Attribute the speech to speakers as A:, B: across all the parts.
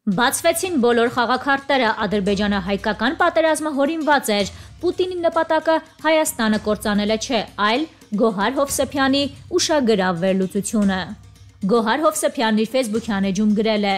A: Բացվեցին բոլոր խաղաքարտերը, Ադրբեջանը հայկական պատերազմը հորինված էր, Պուտինի նպատակը Հայաստանը կործանելը չէ, այլ Գոհար Հովսեփյանի ուշագրավ վերլուծությունը։ Գոհար Հովսեփյանն իր ֆեյսբուքյան էջում գրել է.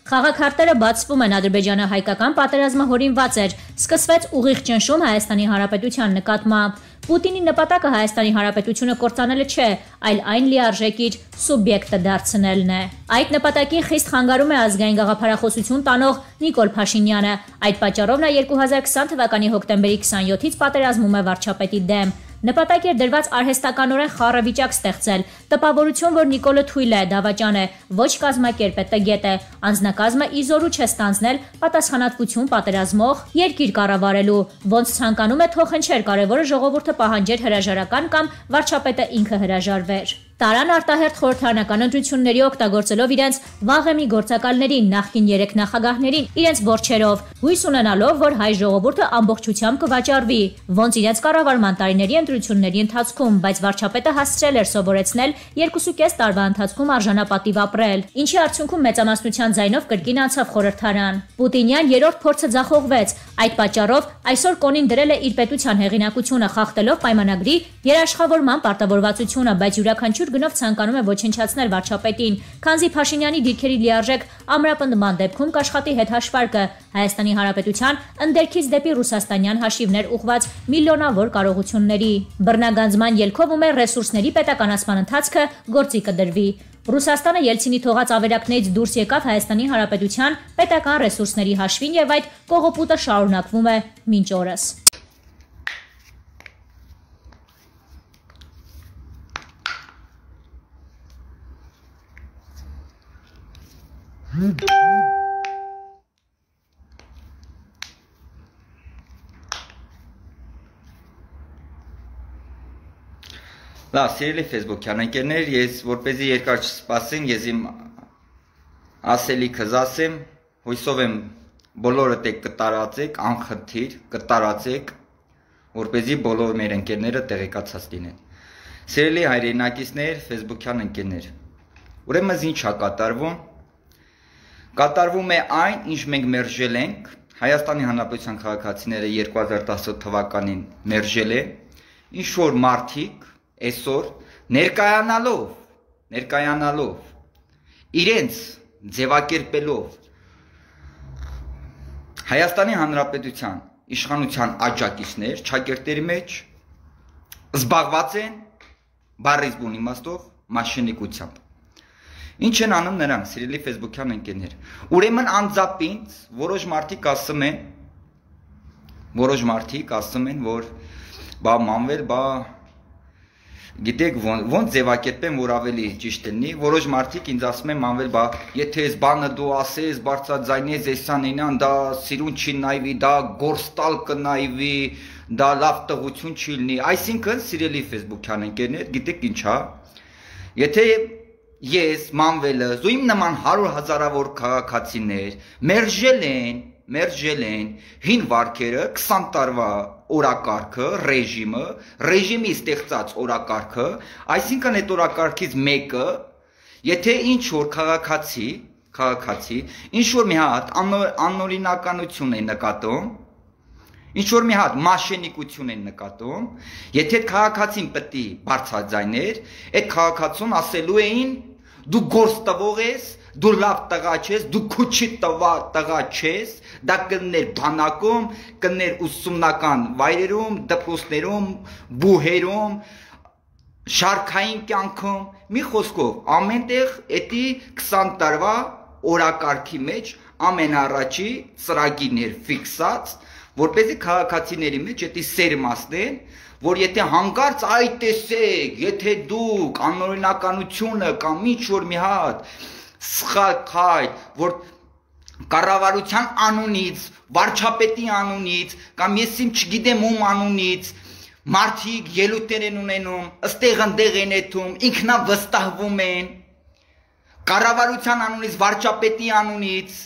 A: Խաղաքարտերը բացվում են, Ադրբեջանը հայկական պատերազմը հորինված էր, սկսվեց ուղիղ ճնշում Հայաստանի Հանրապետության նկատմամբ։ Պուտինի նպատակը Հայաստանի Հանրապետությունը կործանելը չէ, այլ այն լիարժեք իր սուբյեկտը դարձնելն է։ Այդ նպատակին խիստ խանգարում է ազգային գաղափարախոսություն տանող Նիկոլ Փաշինյանը։ Այդ պատճառով նա 2020 թվականի հոկտեմբերի 27-ից պատերազմում է վարչապետի դեմ։ Նպատակ էր դրված արհեստականորեն խառը վիճակ ստեղծել, տպավորություն, որ Նիկոլը թույլ է, դավաճան է, ոչ կազմակերպ է, տգետ է, անձնակազմը իզորու չէ ստանձնել պատասխանատվություն պատերազմող երկիր կառավարելու, ոնց ցանկանում է թոխընչեր, կարևորը ժողովուրդը պահանջեր հրաժարական կամ վարչապետը ինքը հրաժարվեր։ Տարան արտահերթ խորհրդարանական ընտրությունների օգտագործելով իրենց վաղեմի գործակալներին, նախկին 3 նախագահներին, իրենց որջերով, հույս ունենալով, որ հայ ժողովուրդը ամբողջությամբ կվաճառվի, ոնց իրենց կառավարման տարիների ընտրությունների ընթացքում, բայց վարչապետը հասցրել էր սովորեցնել 2.5 տարվա ընթացքում արժանապատիվ ապրել, ինչի արդյունքում մեծամասնության ձայնով կրկին անցավ խորհրդարան։ Պուտինյան երրորդ փորձը ձախողվեց, այդ պատճառով այսօր կոնին դրել է իր պետության հեղինակությունը, խախտելով պայմանագրի երաշխավորման պարտավորվածությունը, բայց յուրաքանչյուր գնով ցանկանում է ոչնչացնել վարչապետին, քանզի Փաշինյանի դիրքերի լիարժեք ամրապնդման դեպքում կաշխատի հետ հաշվարկը Հայաստանի Հանրապետության ընդերքից դեպի ռուսաստանյան հաշիվներ ուղղված միլիոնավոր կարողությունների։ Բռնագանձման ելքով ու մեր ռեսուրսների պետականացման ընթացքը գործի կդրվի։ Ռուսաստանը Ելցինի թողած ավերակներից դուրս եկավ Հայաստանի Հանրապետության պետական ռեսուրսների հաշվին եւ այդ կողոպուտը շարունակվում է մինչ օրս։
B: Լավ, սիրելի Facebook-յան ընկերներ, ես որպեսզի երկար չսպասեմ, ես իմ ասելիքս ասեմ, հույսով եմ բոլորդ եք կտարածեք, անխնդիր կտարածեք, որպեսզի բոլոր մեր ընկերները տեղեկացած լինեն։ Սիրելի հայրենակիցներ, Facebook-յան ընկերներ, ուրեմն ինչ է կատարվում։ Կատարվում է այն, ինչ մենք մերժել ենք, Հայաստանի Հանրապետության քաղաքացիները 2017 թվականին մերժել են, ինչ որ մարդիկ այսօր ներկայանալով իրենց ձևակերպելով Հայաստանի Հանրապետության իշխանության աջակիցներ ճակերտերի մեջ զբաղված են բառից բուն իմաստով մաշինիկությամբ։ Ինչ են անում նրանք, սիրելի Facebook-յան ընկերներ։ Ուրեմն անձապինց որոշ մարդիկ ասում են, որ բա մանվել, բա գիտեք ոնց ձևակերպեմ, որ ավելի ճիշտ լինի, որոշ մարդիկ ինձ ասում են մանվել, բա եթե այս բանը դու ասես, բարձրաձայնես, էսան ինան, դա սիրուն չի նայվի, դա գործտալ կնայվի, դա լավ տղություն չի լինի։ Այսինքն, սիրելի Facebook-յան ընկերներ, գիտեք ինչ է, եթե ես մանվելը, ու իմ նման 100,000-ավոր քաղաքացիներ մերժել են հին վարքերը 20 տարվա օրակարգը, ռեժիմի ստեղծած օրակարգը, այսինքն այդ օրակարգից մեկը, եթե ինչ որ քաղաքացի, ինչ որ մի հատ անօրինականություն է նկատում, ինչ որ մի հատ մաշենիկություն են նկատում, եթե այդ քաղաքացին պետք է բարձրաձայներ, այդ քաղաքացուն ասելու էին դու գործ տվող ես, դու լավ տղա չես, դու քուչի տղա չես, դա կներ բանակում, կներ ուսումնական վայրերում, դպրոցներում, բուհերում, շարքային կյանքում, մի խոսքով, ամենտեղ էդի 20 տարվա օրակարգի մեջ ամենառաջի ծրագիրներ ֆիքսած, որպեսզի քաղաքացիների մեջ էդի սերմացնեն, որ եթե հանկարծ այ տեսեք, եթե դուք անօրինականությունը կամ ինչ որ մի հատ սխալ քայլ, որ կառավարության անունից, վարչապետի անունից կամ ես իմ չգիտեմ ում անունից մարդիկ ելույթներ են ունենում, ըստեղ-ընդեղ են եթում, ինքնավստահվում են, կառավարության անունից, վարչապետի անունից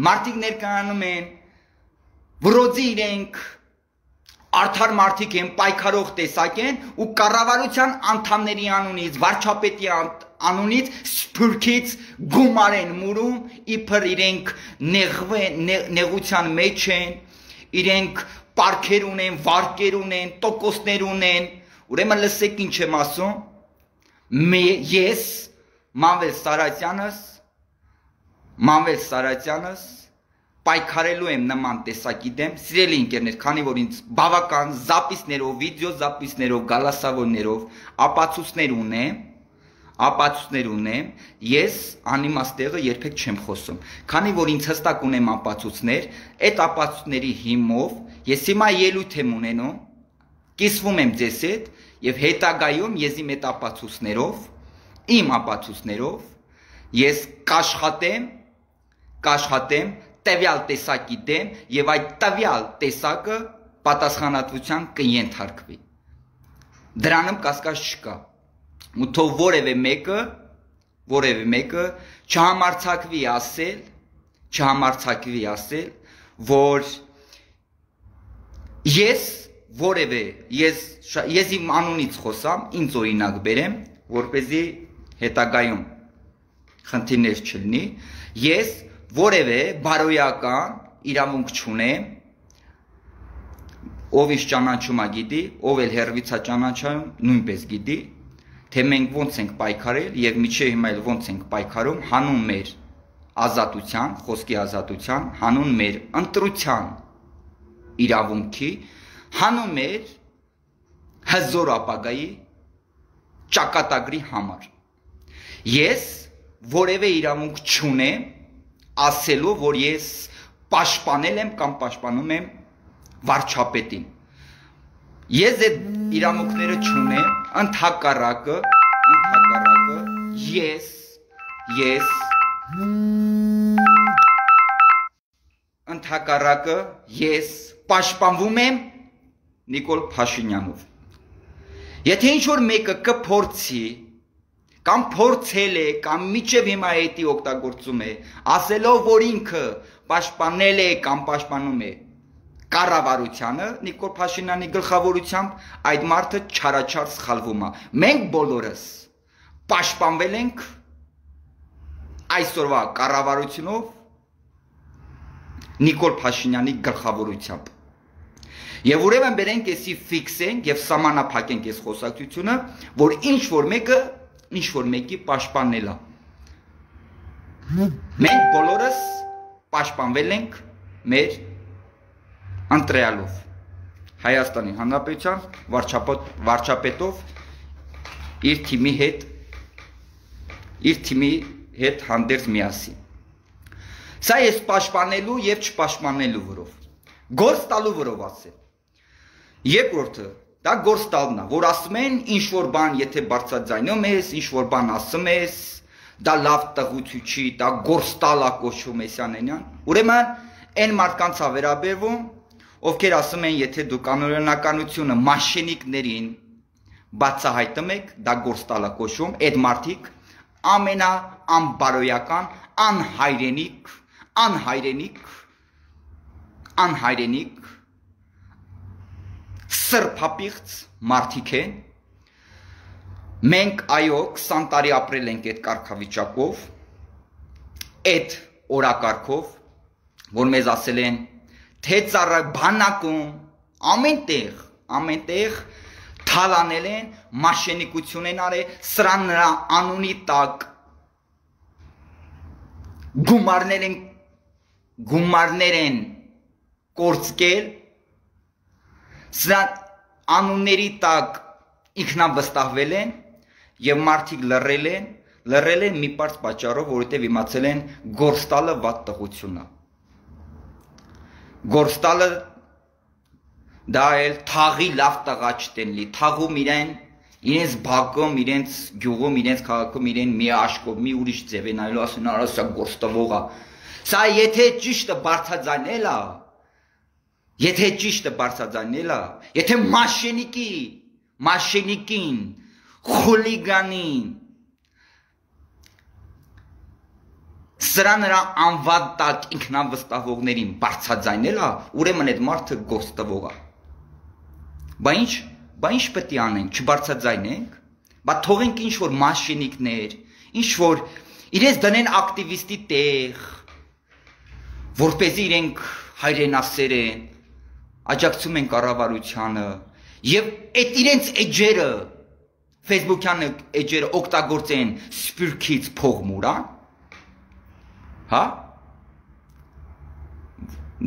B: մարդիկ ներկայանում են, վրոձի իրենք արդար մարդիկ են, պայքարող տեսակ են ու կառավարության անդամների անունից, վարչապետի անունից սփյուռքից գումար են մուրում, իբր իրենք նեղության մեջ են, իրենք պարքեր ունեն, վարկեր ունեն, տոկոսներ ունեն, ուրեմն լսեք ինչ եմ ասում, ես Մանվել Սարատյանս պայքարելու եմ նման տեսակի դեմ, սիրելի ընկերներ, քանի որ ինձ բավական զապիսներով, վիդեո զապիսներով, գալասավորներով ապացույցներ ունեմ, ես անիմաստ տեղը երբեք չեմ խոսում, քանի որ ինձ հստակ ունեմ ապացույցներ, այդ ապացույցների հիմով ես հիմա ելույթ եմ ունենում, կիսվում եմ ձեզ հետ եւ հետագայում ես իմ այդ ապացույցներով ես կաշխատեմ տվյալ տեսակի դեմ եւ այդ տվյալ տեսակը պատասխանատվության կենթարկվի։ Դրանում կասկած չկա։ Ու թող որևէ մեկը չհամարձակվի ասել, որ ես իմ անունից խոսամ, ինձ օրինակ բերեմ, որպեսզի հետագայում խնդիրներ չլինի, ես որևէ բարոյական իրավունք չունեմ, ով ինչ ճանաչում է գիտի, ով էլ հերվից է ճանաչում, նույնպես գիտի, թե մենք ոնց ենք պայքարել եւ միջև հիմա էլ ոնց ենք պայքարում հանուն մեր ազատության, խոսքի ազատության, հանուն մեր ընտրության իրավունքի, հանուն մեր հզոր ապագայի ճակատագրի համար։ Ես որևէ իրավունք չունեմ ասելու, որ ես պաշտպանել եմ կամ պաշտպանում եմ վարչապետին։ Ես այդ իրավունքները չունեմ, ընդհակառակը ես պաշտպանվում եմ Նիկոլ Փաշինյանով։ Եթե ինչ-որ մեկը կփորձի կամ փորձել է, կամ միջև հիմա էդի օգտագործում է, ասելով, որ ինքը պաշտպանել է կամ պաշտպանում է կառավարությանը, Նիկոլ Փաշինյանի գլխավորությամբ, այդ մարդը չարաչար սխալվում է։ Մենք բոլորս պաշտպանվել ենք այսօրվա կառավարությունով Նիկոլ Փաշինյանի գլխավորությամբ։ Եվ ուրեմն բերենք էսի ֆիքսենք եւ սահմանափակենք այս խոսակցությունը, որ ինչ որ մեկի պաշտպանելա։ Մենք բոլորս պաշտպանվել ենք մեր ընտրյալով, Հայաստանի Հանրապետության վարչապետով իր թիմի հետ հանդերձ միասին։ Սա ես պաշտպանելու եւ չպաշտպանելու վրով, գործ տալու վրով ասել։ Երկրորդը դա գործ տալն է, որ ասում են ինչ-որ բան, եթե բարձրաձայնում ես, ինչ-որ բան ասում ես, դա լավ տղուցի, դա գործ տալ է կոչվում Էսյանենյան։ Ուրեմն այն մարդկանց է վերաբերվում, ովքեր ասում են, եթե դու կանոնականությունը մաշենիկներին բացահայտում եք, դա գործ տալ է կոչվում, այդ մարդիկ ամենաանբարոյական, անհայրենիք սրբապիղծ մարդիկ են, մենք այո 20 տարի ապրել ենք այդ կարգավիճակով, այդ օրակարգով, որ մեզ ասել են, թե ծառայ բանակում, ամենտեղ թալանել են, մաշենիկություն են արել, սրան նրա անունի տակ գումարներ են կորցկել, սրան անունների տակ ինքնավստահվել են եւ մարդիկ լռել են մի պարզ պատճառով, որովհետեւ իմացել են գործ տալը վատ տղություն է։ Գործ տալը դա էլ թաղի լավ տղա չտենլի, թաղում իրենց բակում, իրենց գյուղում, իրենց քաղաքում իրեն մի աշկով, մի ուրիշ ձև են այլու ասեն, արա սա գործ տվող է։ Սա եթե ճիշտը բարձրաձայնել է, եթե մաշենիկին, խուլիգանին, սրա նրա անվան տակ ինքնավստահողներին բարձրաձայնել է, ուրեմն այդ մարդը գործ տվող է։ Բա ինչ պետք է անենք, չբարձրաձայնենք, բա թողենք ինչ որ մաշենիկներ, ինչ որ իրենց դնեն ակտիվիստի տեղ, որպեսզի իրենք հայրենասեր են, աջակցում են կառավարությանը եւ այդ իրենց էջերը Facebook-յան էջերը օգտագործեն սփյուռքից փող մուրան, հա?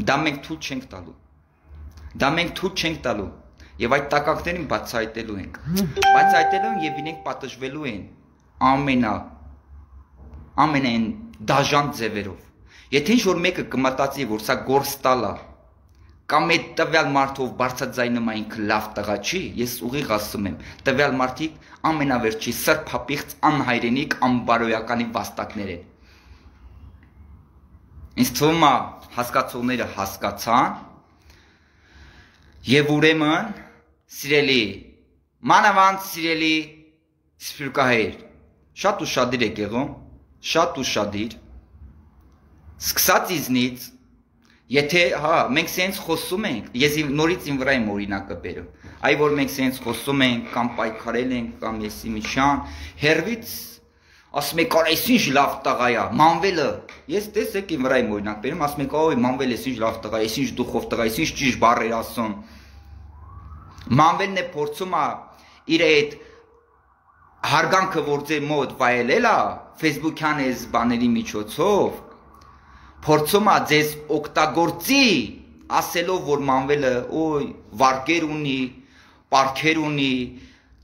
B: Դա մենք թույլ չենք տալու։ Դա մենք թույլ չենք տալու եւ այդ տակակներին բացահայտելու ենք։ Բացահայտելու են եւ իրենք պատժվելու են ամենայն դաժան ձևերով։ Եթե ինչ որ մեկը կմտածի, որ սա գործ տալա կամ այդ տվյալ մարդով բարձրաձայնում ինքը լավ տղա չի, ես ուղիղ ասում եմ, տվյալ մարդիկ ամենավերջի սրբապիղծ անհայրենիք անբարոյականի վաստակներ են։ Ինձ թվում է հասկացողները հասկացան եւ ուրեմն սիրելի մանավանդ սիրելի սփյուռքահայեր շատ ուշադիր եք եղում, շատ ուշադիր սկսած իզնից եթե հա մենք սենց խոսում ենք, ես նորից իմ վրա եմ օրինակը բերում, այ որ մենք սենց խոսում ենք կամ պայքարել ենք կամ եսի միջան, հերվից ասում եք այս ինչ լավ տղա է, մանվելը, ես տեսեք իմ վրա եմ օրինակ բերում, ասում եք օй մանվելը այս ինչ լավ տղա է, այս ինչ դուխով տղա է, այս ինչ ճիշտ բառեր ասում։ Մանվելն է փորձում է իր այդ հարգանքը որ ձեր մոտ վայելել է Facebook-յան այս բաների միջոցով, փորձում է ձեզ օգտագործի, ասելով որ մանվելը օй վարկեր ունի, պարքեր ունի,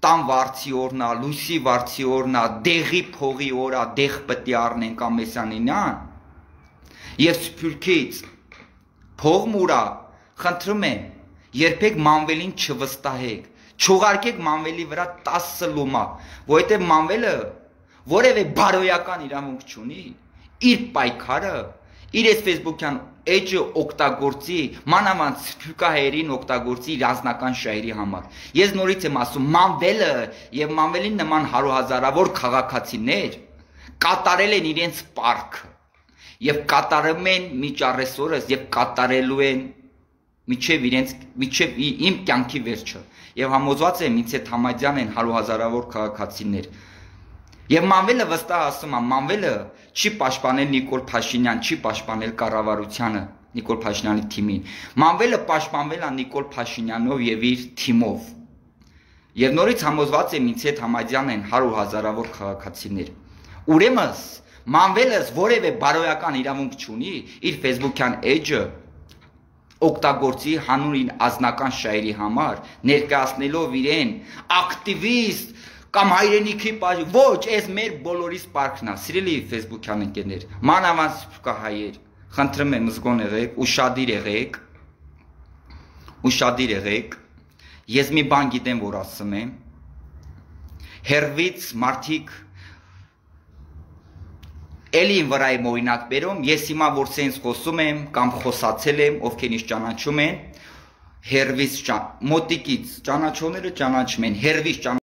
B: տան վարձի օրնա, լույսի վարձի օրնա, դեղի փողի օրա, դեղ պետք է առնենք ամեսյանինան, եւ սփյուռքից փող մուրա, խնդրում եմ, երբեք մանվելին չվստահեք, չուղարկեք մանվելի վրա 10 լումա, որովհետեւ մանվելը որևէ բարոյական իրավունք չունի, իր պայքարը, իր այս Facebook-յան էջը օգտագործի, մանավանդ սփյուռքահայերին օգտագործի իր անձնական շահերի համար։ Ես նորից եմ ասում, մանվելը եւ մանվելին նման հարյուրահազարավոր քաղաքացիներ կատարել են իրենց պարտքը եւ կատարում են միջ առեսօրս եւ կատարելու են միջև իմ կյանքի վերջը։ Եվ համոզված եմ ինձ հետ համաձայն են հարյուրահազարավոր քաղաքացիներ։ Եվ մանվելը վստահ ասում է, մանվելը չի պաշտպանել Նիկոլ Փաշինյան, չի պաշտպանել կառավարությանը, Նիկոլ Փաշինյանի թիմին։ Մանվելը պաշտպանվել է Նիկոլ Փաշինյանով եւ իր թիմով։ Եվ նորից համոզված եմ ինձ հետ համաձայն են հարյուրահազարավոր քաղաքացիներ։ Ուրեմն մանվելս որևէ բարոյական իրավունք չունի իր Facebook-յան էջը օգտագործի հանուն ազնական շահերի համար, ներկայացնելով իրեն ակտիվիստ կամ հայրենիքի ոչ, այս մեր բոլորիս պարկն է, սիրելի Facebook-յան ընկերներ, մանավանդ սփյուռքահայեր, խնդրում եմ զգոն եղեք, ուշադիր եղեք, ես մի բան գիտեմ, որ ասում եմ, հերվից մարդիկ էլի իմ վրա եմ օրինակ բերում, ես հիմա որ սենց խոսում եմ կամ խոսացել եմ, ովքեր ինձ ճանաչում են, հերվից մոտիկից ճանաչողները ճանաչում են, հերվից